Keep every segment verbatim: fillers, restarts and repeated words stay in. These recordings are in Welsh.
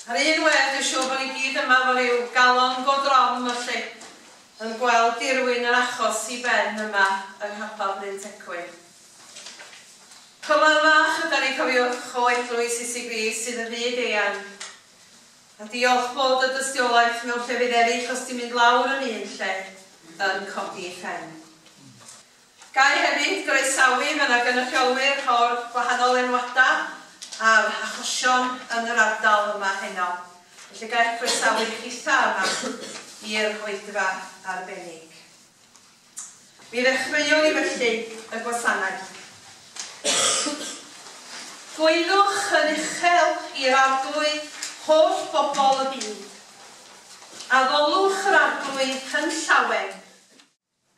Ar un wedd, dwi'n siŵr bod ni gyd yma efo ryw galon go drom felly, yn gweld dirwyn yr achos i ben yma yng Nghapel Bryn Tecwyn. Cyfle fach ydan ni, cofiwch, o Eglwys Iesu Grist sydd yn fyd eang. A diolch bod y dystiolaeth mewn llefydd eraill os ti'n mynd lawr yn un lle yn codi ei phen. Gai hefyd groesawu, mae yna gynrychiolwyr o'r gwahanol enwadau a'r achosion yn yr ardal yma heno. Felly gai croesawu chitha yma i'r oedfa arbennig. Mi ddechreuwn ni felly y gwasanaeth. Gwaeddwch yn uchel i'r Arglwydd holl bobl y byd. Addolwch yr Arglwydd yn llawen,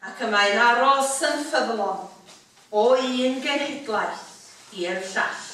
ac y mae'n aros yn ffyddlon o un genhedlaeth i'r llall.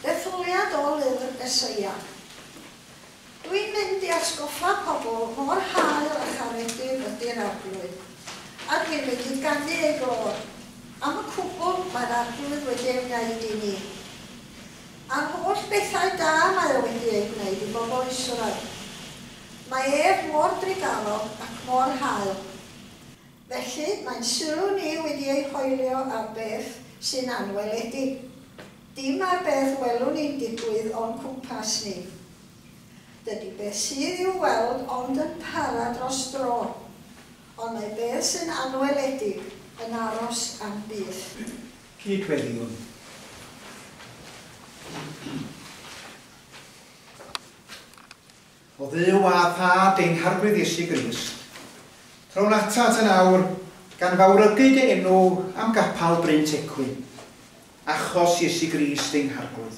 Detholiad o lyfr Eseia. Dwi'n mynd i atgoffa pobl mor hael a charedig ydy'r Arglwydd, a dwi'n mynd i ganu ei glod. Am y cwbl mae'r Arglwydd wedi ei wneud i ni. A'r holl bethau da mae o wedi ei gwneud i bobl Israel. Mae ef mor drugarog ac mor hael. Felly mae'n sylw ni wedi ei hoelio ar beth sy'n anweledig. Dim ar beth welwn ni'n digwydd o'n cwmpas ni. Dydy beth sydd i'w weld ond yn para dros dro, ond mae beth sy'n anweledig yn aros am byth. Cydweddiwn. O Dduw a Thad ein Harglwydd Iesu Grist, trown atat yn awr gan fawrygu dy enw am gapel Bryn Tecwyn, achos Iesu Grist ein Harglwydd.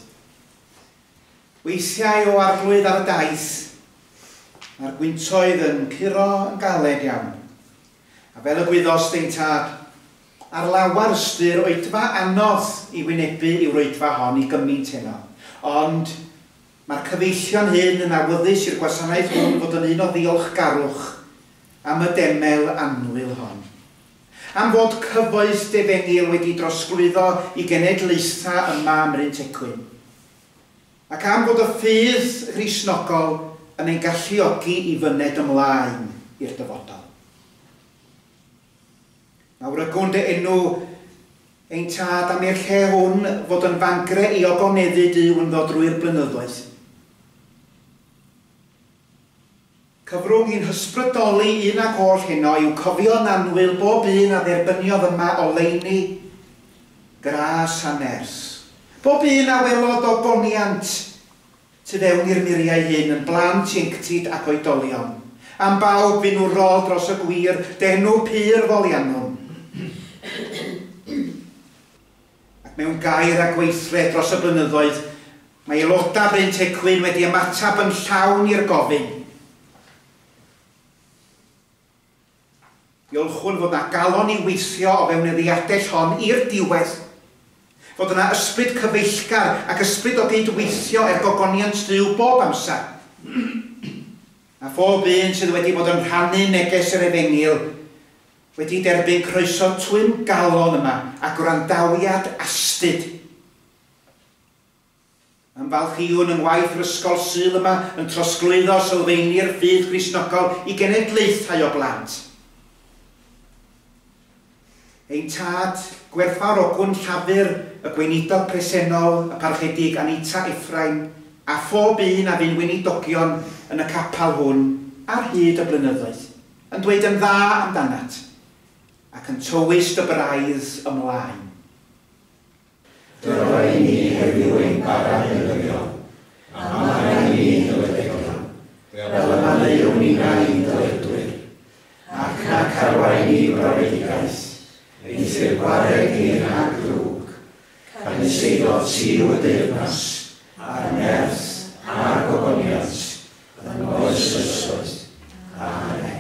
Weithiau o Arglwydd ar y daith, mae'r gwyntoedd yn curo yn galed iawn. A fel y gwyddost ein Tad, ar lawar ystyr oedfa anodd i wynebu yw'r oedfa hon i gymaint heno. Ond mae'r cyfeillion hyn yn awyddus i'r gwasanaeth hwn fod yn un o ddiolchgarwch am y demel annwyl hon. Am fod cyfoeth defengyl wedi drosglwyddo i genedlaethau yma ym Mryn Tecwyn. Ac am fod y ffydd Gristnogol yn ein galluogi i fyned ymlaen i'r dyfodol. Mawrygwn dy enw ein Tad am i'r lle hwn fod yn fangre i ogoneddu Duw ynddo drwy'r blynyddoedd. Cyfrwng i'n hysbrydoli un ag oll heno yw cofio'n annwyl bob un a dderbyniodd yma oleuni, gras a nerth. Bob un a welodd ogoniant tu fewn i'r muriau hyn yn blant, ieuenctid ac oedolion. Am bawb filwrol dros y gwir, d'enw pur foliannwn. Ac mewn gair a gweithred dros y blynyddoedd, mae aelodau Bryn Tecwyn wedi ymateb yn llawn i'r gofyn. Diolchwn fod na galon i weithio o fewn y ddiadell hon i'r diwedd. Fod yna ysbryd cyfeillgar ac ysbryd o gydweithio er gogoniant Duw bob amser. A phob un sydd wedi bod yn rhannu neges yr efengyl wedi derbyn croeso twym galon yma a gwrandawiad astud. Ymfalchïwn yng ngwaith yr ysgol Sul yma yn trosglwyddo sylfaeni'r ffydd Gristnogol i genedlaethau o blant. Ein Tad, gwerthfawrogwn llafur y gweinidog presennol, y parchedig Anita Ephraim, a phob un a fu'n weinidogion yn y capal hwn ar hyd y blynyddoedd, yn dweud yn dda amdanat, ac yn tywys dy braidd ymlaen. Dyro i ni heddiw ein bara dyddiol, a maddau i ni'n dyledion, fel y maddeuwn ninnau i'n dyledwyr, ac nac arwain ni i brofedigaeth, eithr gwared ni rhag ddrwg, canys eiddo ti yw y deyrnas, a'r nerth, a'r gogoniant, yn oes oesoedd. Amen.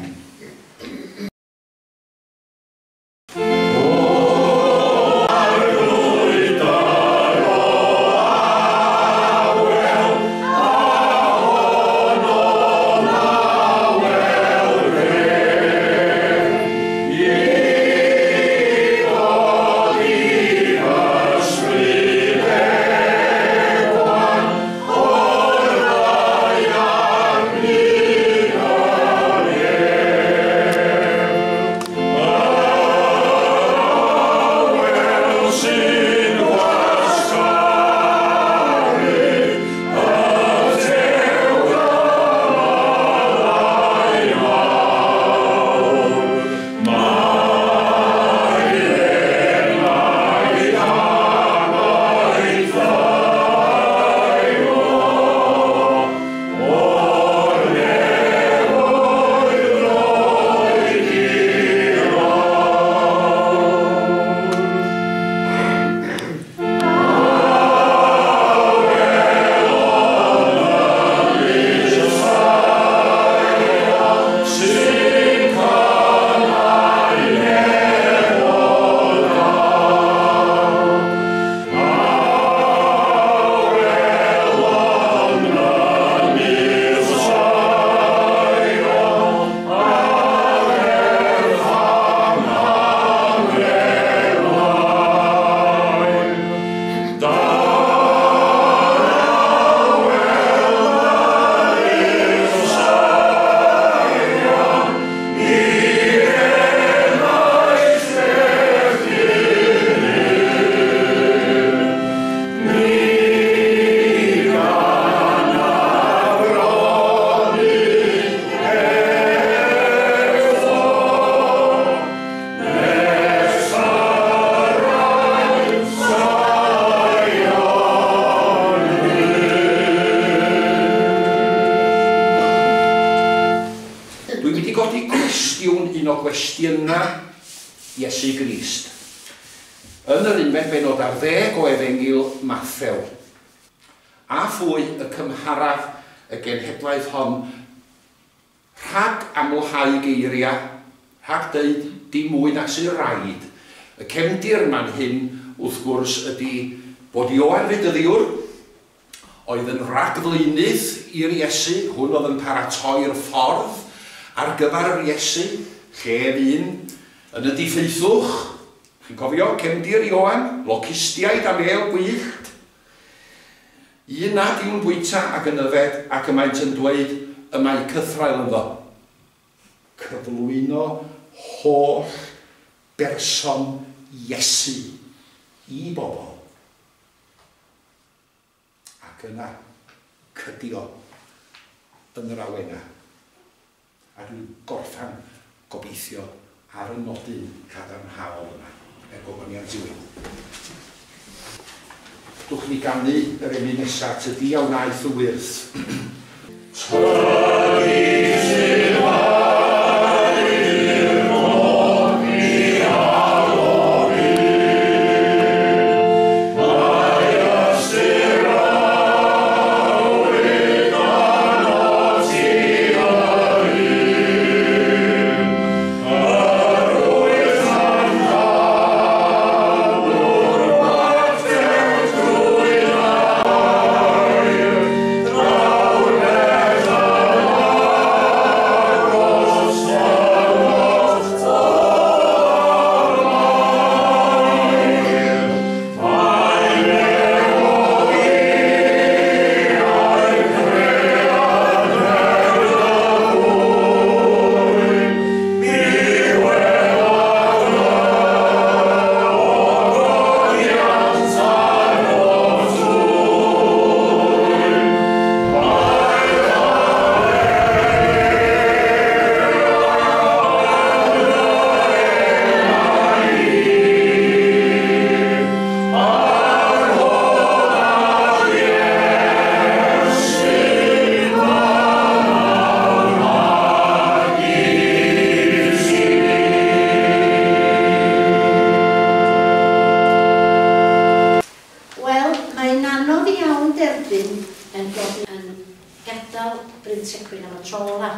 Gwestiynau Iesu Grist. Yn yr unfed bennod ar ddeg o Efengyl Mathew. A phwy y cymharaf y genhedlaeth hon rhag amlhau geiriau, rhag deud dim mwy na sy'n rhaid. Y cefndir man hyn, wrth gwrs, ydy bod Ioan Fedyddiwr oedd yn rhagflaenydd i'r Iesu, hwn oedd yn paratoi'r ffordd ar gyfer yr Iesu, lle un yn y diffeithwch, chi'n cofio, cefndir Ioan, locustiaid a mêl gwyllt. Un nad yw'n bwyta ac yn yfed ac y maent yn dweud y mae cythraul ynddo. Cyflwyno holl berson Iesu i bobl. Ac yna cydio yn yr awenau. A dwi'n gorffan gobeithio ar y nodyn cadarnhaol yma, er gogoniant i Dwch ni ganu yr emyn nesaf, tydi a wnaeth y wyrth. Tydi sy'n haeddu'r nodi a lori, mae ystyr awydd arnot ti yr un, yr wyt yn llanw'r mater drwy air, draw'r beth yn wedyn yn dod yn gadael Bryn Tecwyn am y tro ola.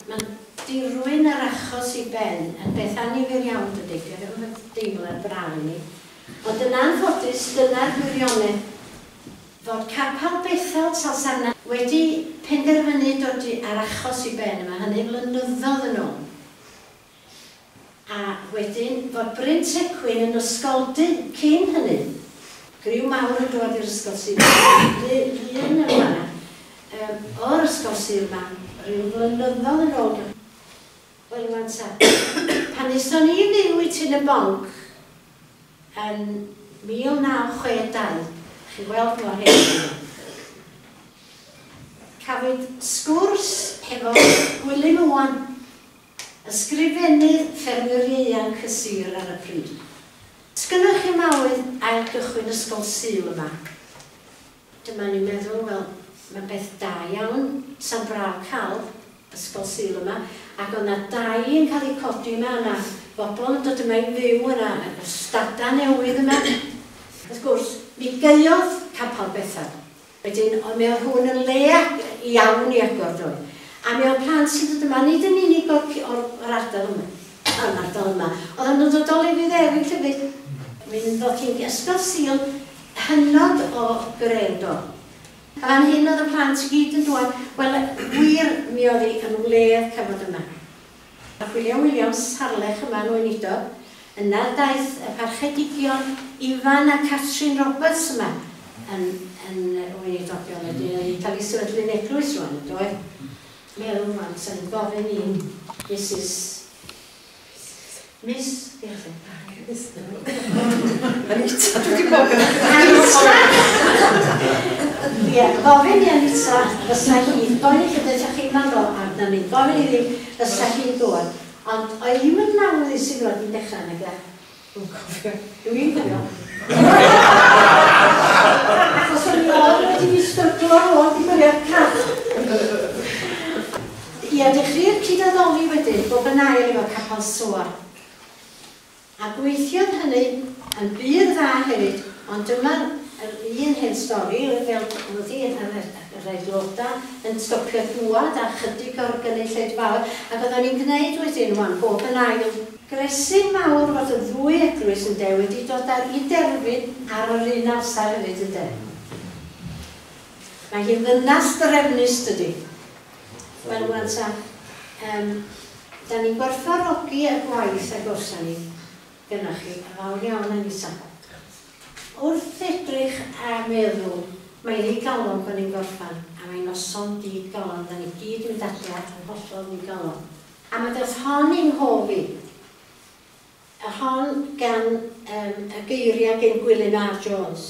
Mae'n dirwyn yr achos i ben yn beth annifyr iawn dydy, dwi'n yn deimlad braf i ni. Ond yn anffodus, dyna'r gwirionedd fod Capel Bethel Talsarnau wedi penderfynu dod ar achos i ben yma, hynny flynyddoedd yn ôl. A wedyn fod Bryn Tecwyn yn ysgoldy cyn hynny. Griw mawr yn dod i'r ysgol Sul. Un yma, um, o'r ysgol Sul yma, rhyw flynyddoedd yn ôl. Wel, wan ta, pan aethon ni fyw i Tyn y Bonc yn mil naw chwe dau, chi weld mor hen yma, cafwyd sgwrs hefo Gwilym Owen, ysgrifennydd ffermwyr ieuanc y sir ar y pryd. Sgynnoch chi mawydd ail gychwyn ysgol Sul yma? Dyma ni'n meddwl, wel, mae'n beth da iawn, sa'n braf cael ysgol Sul yma, ac oedd yna dau yn cael eu codi yma, yna bobl yn dod yma i fyw yna, stada newydd yma. Wrth gwrs, mi gaeodd Capel Bethel. Wedyn, ond mi oedd hwn yn le iawn i agor doedd. A mi oedd plant sy'n dod yma, nid yn unig o'r, o'r, o'r ardal yma, o'r ardal yma, oedd nhw'n dod o lefydd eraill hefyd. Mi'n ddod hi'n ysgol Sul hynod o greu do. A fan hyn oedd y plant i gyd yn dod, wel, wir mi oedd hi yn wledd cyfnod yma. A William Williams Harlech yma yn weinidog, yna daeth y parchedigion Ifan a Catrin Roberts yma yn, yn weinidogion. Wedyn oedd hi'n cael ei sefydlu'n eglwys rwan, yn doedd? Meddwl rwan, sy'n gofyn i Missus Miss, diolch. Anita, dwi wedi bod yn... Anita! Ie, gofyn i Anita, fysa hi, gofyn i chi, ydych chi'n meddwl arna ni, gofyn iddi fysa hi'n dod. Ond oedd hi'n mynd awyddus i ddod i dechrau nag e? Dwi'n cofio. Dwi'n cofio. Achos o'n i oedd wedi fi stryglo ar ôl i gwylio'r car. Ie, dechreu'r cyd-addoli wedyn, bob yn ail efo Capel Soar. A gweithiodd hynny yn bur dda hefyd, ond dyma'r un hen stori, fel oedd hi yr aelodau yn stopio dŵad a chydig o'r gynulleidfaoedd, ac oedden ni'n gwneud wedyn wan, bob yn ail. Gresyn mawr fod y ddwy eglwys yn de wedi dod ar i derfyn ar yr un amser hefyd yn de. Mae hi'n ddynas drefnus dydy. Wel, wan ta, um, da ni'n gwerthfawrogi y gwaith a gorsa ni gynnoch chi, a fawr iawn Anita. Wrth edrych a meddwl, mae'n ddigalon bod ni'n gorffan, a mae'n noson digalon, da ni gyd yn mynd adra yn hollol ddigalon. A mae dod hon i'n nghof i, y hon gan um, y geiriau gen Gwilym R. Jones.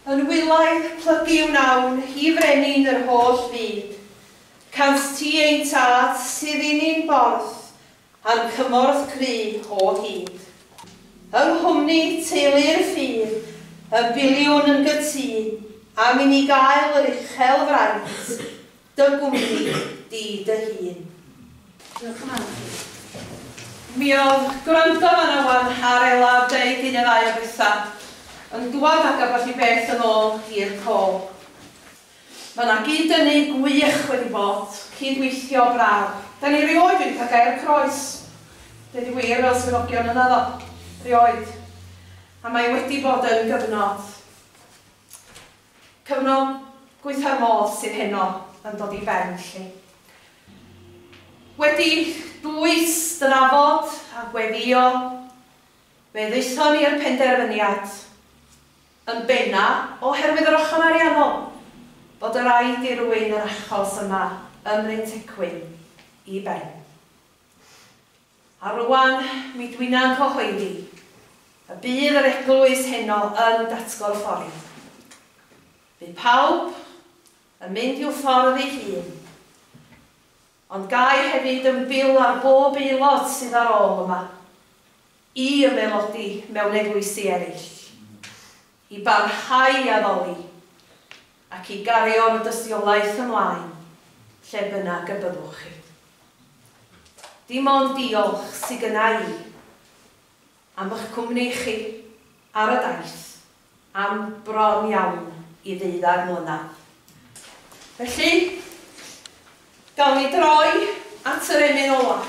Yn wylaidd plygu wnawn, hi frenin yr holl fyd. Cant ti ein tad sydd i ni'n borth, a'n cymorth cry o hyd. Yng nghwmni teulu'r ffydd, y biliwn yn gytûn, am i ni gael yr uchel fraint, dy gwmni di dy hun. Diolch yn fawr. Mi oedd gwrando fan awan ar Ela deud un neu ddau o bethau, yn dwad ag ambell i beth yn ôl i'r cof. Mae yna gyd-dynnu gwych wedi bod, cydweithio braf. Da ni rioed wedi cael gair croes. Deud y gwir fel swyddogion yna ddo, rioed. A mae wedi bod yn gyfnod. Cyfnod gweitha'r modd sydd heno yn dod i ben, lly. Wedi dwys drafod a gweddio, fe ddaethon ni'r penderfyniad yn benna oherwydd yr ochr ariannol, bod y rhaid i rywun yr achos yma ym Mryn Tecwyn i ben. A rwan, mi dwi'n cyhoeddi y bydd yr eglwys heno yn datgorffori. Bydd pawb yn mynd i'w ffordd ei hun, ond gai hefyd yn byw ar bob aelod sydd ar ôl yma, i ymaelodi mewn eglwysi eraill, i barhau i addoli, ac i gario'r dystiolaeth ymlaen, lle bynnag y byddwch chi. Dim ond diolch sydd gynna i am eich cwmni chi ar y daith, am bron iawn i ddeuddag mlynedd. Felly, gawn ni droi at yr emyn ola.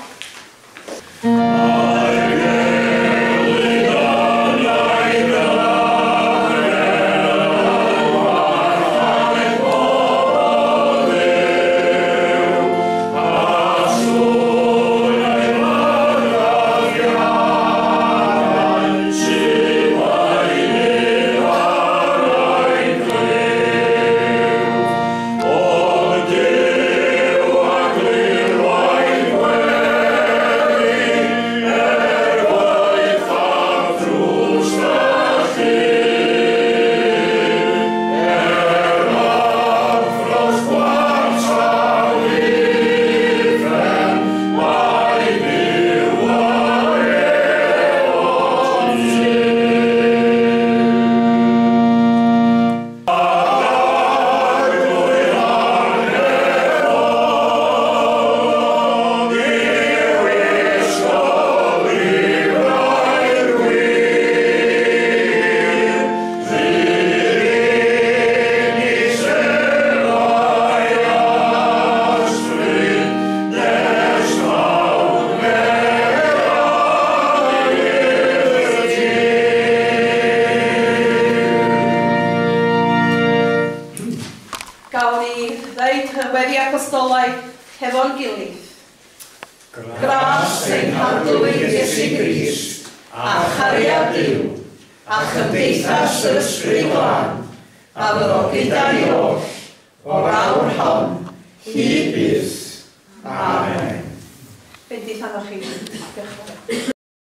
Hefo'n gilydd. Gras ein Harglwydd Iesu Grist, a chariad Duw, a chymdeithas yr Ysbryd Glân, a fyddo gyda ni oll, o'r awr hon, hyd byth. Amen. Bendith arnoch chi. Diolch yn fawr.